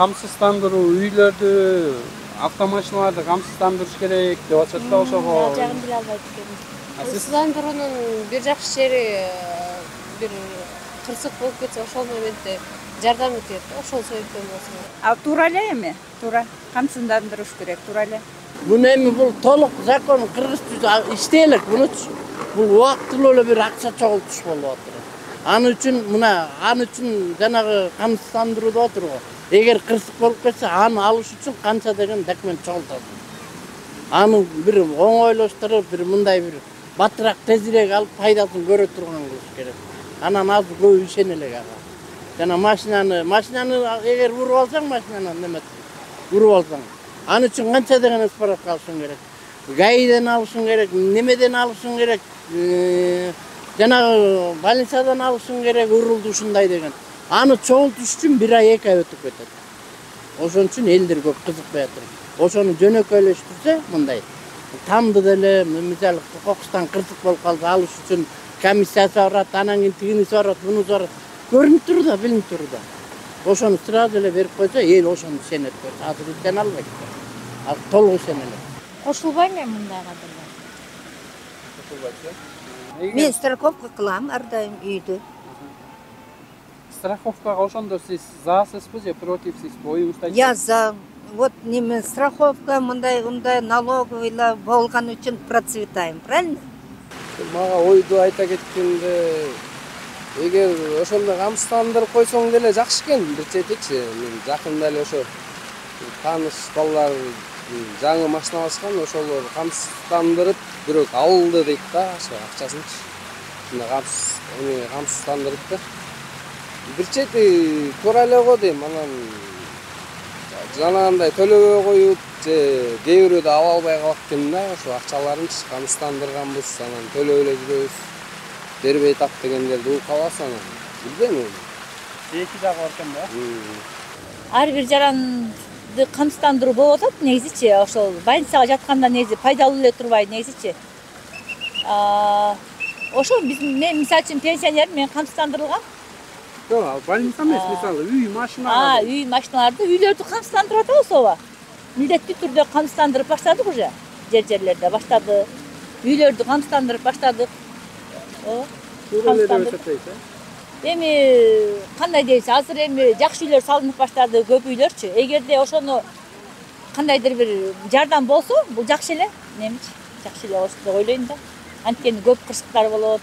камсыздандыруу, үйлөрдү, автомашиналарды камсыздандырыш керек деп атышат да ошого. Ал жагын биле албайт экенмин. Камсыздандыруунун бир жакшы жери бир кырсык болуп кетсе ошол моментте жардам этет. Ошол себептен болсун. А туура эле эми, туура камсыздандырыш керек, туура эле. Муну эми бул толук закон кыргызча иштей элек мунучу. Бул убактылуу эле бир акча чогултуш болуп атат. Аны үчүн жанагы камсыздандыруу деп атыр го. Эгер кырсык болуп кетсе, аны алыш үчүн канча деген документ чогултат. Аны бир оңойлоштуруп, бир мындай бир батыраак тезирээк алып пайдасын көрө турган кылыш керек. Анан азыр көп ишене элек ага. Жана машинаны эгер уруп алсаң, машинаны уруп алсаң, аны үчүн канча деген справка алышың керек. ГАИден алышың керек, немеден алышың керек, жанагы больницадан алышың керек, урулду ушундай деген. Аны чогултуш үчүн 1 ай 2 ай өтүп кетет. Ошон үчүн элдер көп кызыкпай атыр. Ошону жөнөкөйлөштүрсө, мындай тамды деле, мисалы кокустан кырсык болуп калса, алыш үчүн комиссиясы барат, анан кийин тигиниси барат, мунусу барат. Көрүнүп тур да, билинип тур да. Ошону сразу эле берип койсо, эл ошону ишенет. Азыр ишене албайт. Азыр толук ишене элек. Кошулбайм мен мындайга деле. Кошулбайт. Мен страховка кылам ар дайым үйдө. Страховкага ошондо сиз засызбы же противсиз, оюңузду Я за вот неме страховка мындай налоговыйлар болгон үчүн процветаем, правильно? Мага ойду айта кеткенде, эгер ошондой камсыздандырып койсоң деле жакшы экен бир четичи. Мен жакында эле ошо тааныш балдар жаңы машина алышкан, ошолор камсыздандырып бирок алды дейт да, ошо акчасынчы. Ушундай камсыздандырып да. Бир чети туура эле го дейм, анан жанагындай төлөбөй коюп же кээ бирөөдө ала албай калат экен да, ошо акчаларынчы камсыздандырганбыз, анан төлөп эле жүрөбүз. Бербей тап дегендерди угуп каласың анан. Билбейм. эки жагы бар экен да. Ар бир жаранды камсыздандыруу болуп атат негизичи, ошол больницага жатканда негизи пайдалуу эле турбайт негизичи. Ошол мен мисалы үчүн пенсионермин, мен камсыздандырылгам. Жок, больница эмес, мисалы үй, машина. Үй, машиналарды, үйлөрдү камсыздандырып атабыз ооба. Милдеттүү түрдө камсыздандырып баштадык уже. Жерлерде баштады. Үйлөрдү камсыздандырып баштадык. Туура эле деп эсептейт. Эми кандай дейбиз, азыр эми жакшы үйлөр салынып баштады, көп үйлөрчү. Эгерде ошону кандайдыр бир жардам болсо, бул жакшы эле, немечи, жакшы эле болот деп ойлойм да. Анткени көп кырсыктар болот.